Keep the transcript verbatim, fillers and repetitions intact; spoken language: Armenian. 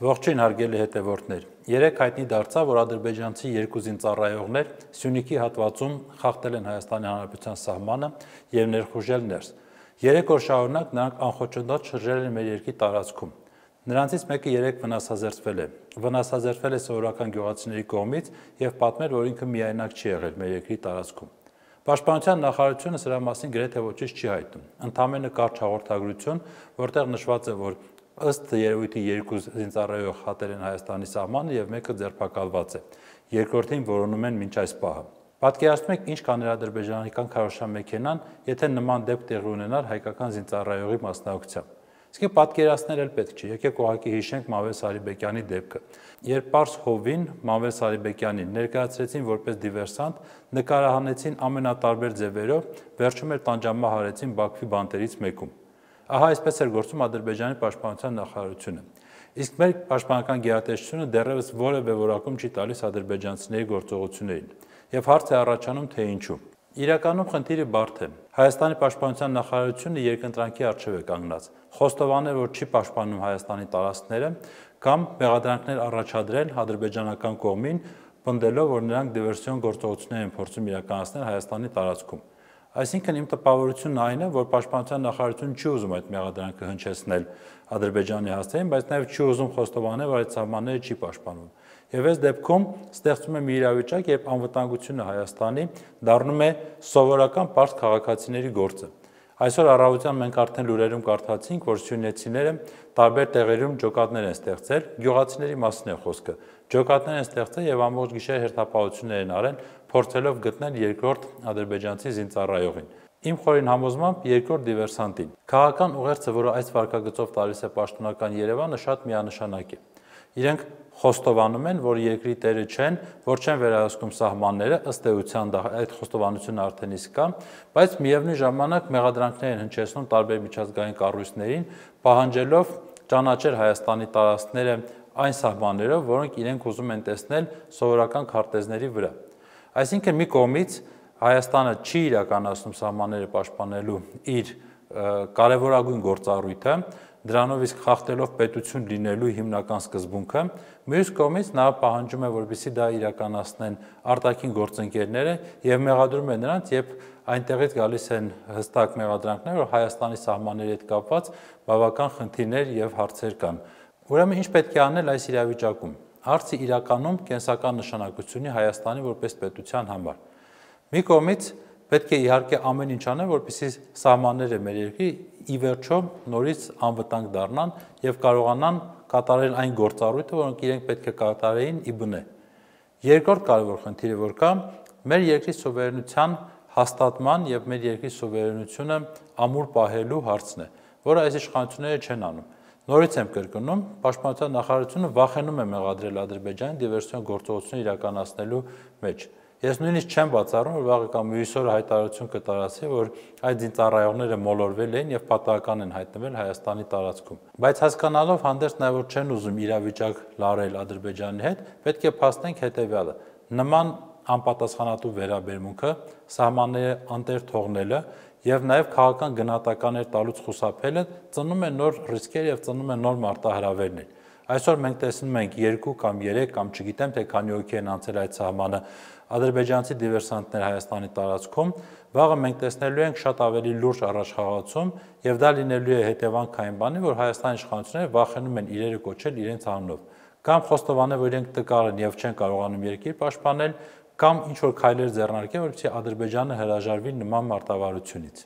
Ողջույն հարգելի հետևորդներ, երեկ հայտնի դարձավ, որ ադրբեջանցի երկու զինծառայողներ Սյունիքի հատվածում խախտել են Հայաստանի Հանրապետության սահմանը և ներխուժել ներս։ Երեք օր շարունակ նրանք անխոչնդոտ շրջել են մեր երկրի տարածքում։ Նրանցից մեկը երեկ վնասազերծվել է։ Վնասազերծվել է սովորական գյուղացիների կողմից և պատմել, որ ինքը միայնակ չի եղել մեր երկրի տարածքում։ Պաշտպանության նախարարությունը սրա մասին գրեթե ոչինչ չի հայտնում։ Ընդամենը կարճ հաղորդագրություն, որտեղ նշված է, որ ըստ երևույթի երկու զինծառայող խախտել են Հայաստանի սահմանը և մեկը ձերբակալված է։ Երկրորդին որոնում են մինչ այս պահը։ Պատկերացնում եք, ինչ կաներ ադրբեջանական քարոզչամեքենան, եթե նման դեպք տեղի ունենար հայկական զինծառայողի մասնակցությամբ։ Իսկ պատկերացնել էլ պետք չի։ Եկեք ուղղակի հիշենք Մամվել Սարիբեկյանի դեպքը։ Երբ Պարս Հովին Մամվել Սարիբեկյանին ներկայացրեցին որպես դիվերսանտ, նկարահանեցին ամենատարբեր ձևերով, վերջում էլ տանջամահ արեցին Բաքվի բանտերից մեկում։ Ահա այսպես էր գործում Ադրբեջանի պաշտպանության նախարարությունը։ Իսկ մեր պաշտպանական գերատեսչությունը դեռևս որևէ որակում չի տալիս ադրբեջանցիների գործողություններին։ Եվ հարց է առաջանում, թե ինչու։ Իրականում խնդիրը բարդ է։ Հայաստանի պաշտպանության նախարարությունը երկընտրանքի առջև է կանգնած։ Խոստովանել, որ չի պաշտպանում Հայաստանի տարածքները, կամ մեղադրանքներ առաջադրել ադրբեջանական կողմին, պնդելով, որ նրանք դիվերսիոն գործողություններ են փորձում իրականացնել Հայաստանի տարածքում։ Այսինքն իմ տպավորությունն այն է, որ պաշտպանության նախարարությունը չի ուզում այդ մեղադրանքը հնչեցնել Ադրբեջանի հասցեին, բայց նաև չի ուզում խոստովանել, որ այդ սահմանները չի պաշտպանում։ Եվ այս դեպքում ստեղծում է մի իրավիճակ, երբ անվտանգությունը Հայաստանի դառնում է սովորական պարզ քաղաքացիների գործը։ Այսօր առավոտյան մենք արդեն լուրերում կարդացինք, որ սյունեցիները տարբեր տեղերում ջոկատներ են ստեղծել, գյուղացիների մասին է խոսքը։ Ջոկատներ են ստեղծել եւ ամբողջ գիշեր հերթապահություններ են արել, փորձելով գտնել երկրորդ ադրբեջանցի զինծառայողին։ Իմ խորին համոզմամբ երկրորդ դիվերսանտին։ Քաղաքական ուղերձը, որը այս վարկագծով տալիս է պաշտոնական Երևանը, շատ միանշանակ է։ Իրենք խոստովանում են, որ երկրի տերը չեն, որ չեն վերահսկում սահմանները, ըստ էության այդ խոստովանությունը արդեն իսկ կա, բայց միևնույն ժամանակ մեղադրանքներ են հնչեցնում տարբեր միջազգային կառույցներին, պահանջելով ճանաչել Հայաստանի տարածքները այն սահմաններով, որոնք իրենք ուզում են տեսնել սովորական քարտեզների վրա։ Այսինքն մի կողմից Հայաստանը չի իրականացնում սահմանները պաշտպանելու իր կարևորագույն գործառույթը, դրանով իսկ խախտելով պետություն լինելու հիմնական սկզբունքը, մյուս կողմից նա պահանջում է, որպեսզի դա իրականացնեն արտաքին գործընկերները եւ մեղադրում է նրանց, երբ այնտեղից գալիս են հստակ մեղադրանքներ, որ Հայաստանի սահմանների հետ կապված բավական խնդիրներ եւ հարցեր կան։ Ուրեմն ինչ պետք է անել այս իրավիճակում։ Հարցը իրականում կենսական նշանակություն ունի Հայաստանի որպես պետության համար։ Մի կողմից պետք է իհարկե ամեն ինչ անել, որպեսզի սահմանները մեր երկրի ի վերջո նորից անվտանգ դառնան եւ կարողանան կատարել այն գործառույթը, որոնք իրենք պետք է կատարեին ի բնե։ Երկրորդ կարևոր խնդիրը, որ կա, մեր երկրի սուվերենության հաստատման եւ մեր երկրի սուվերենությունը ամուր պահելու հարցն է, որը այս իշխանությունները չեն անում։ Նորից եմ կրկնում, պաշտպանության նախարարությունը վախենում է մեղադրել Ադրբեջանի դիվերսիոն գործողություններ իրականացնելու մեջ։ Ես նույնիսկ չեմ բացառում, որ վաղը կամ մյուս օրը հայտարարություն կտարածի, որ այդ զինծառայողները մոլորվել էին եւ պատահական են հայտնվել Հայաստանի տարածքում։ Բայց հասկանալով հանդերձ նաեւ որ չեն ուզում իրավիճակ լարել Ադրբեջանի հետ, պետք է փաստենք հետեւյալը. նման անպատասխանատու վերաբերմունքը, սահմանները անտեր թողնելը եւ նաեւ քաղաքական գնահատականներ տալուց խուսափելը ծնում է նոր ռիսկեր եւ ծնում է նոր մարտահրավերներ։ Այսօր մենք տեսնում ենք երկու կամ երեք կամ չգիտեմ թե քանի հոգի են անցել այդ սահմանը ադրբեջանցի դիվերսանտներ Հայաստանի տարածքում, վաղը մենք տեսնելու ենք շատ ավելի լուրջ առաջխաղացում եւ դա լինելու է հետևանք այն բանի, որ Հայաստանի իշխանությունները վախենում են իրերը կոչել իրենց անունով, կամ խոստովանել, որ իրենք տկար են եւ չեն կարողանում երկիր պաշտպանել, կամ ինչ որ քայլեր ձեռնարկել, որպեսզի Ադրբեջանը հրաժարվի նման մարտավարությունից։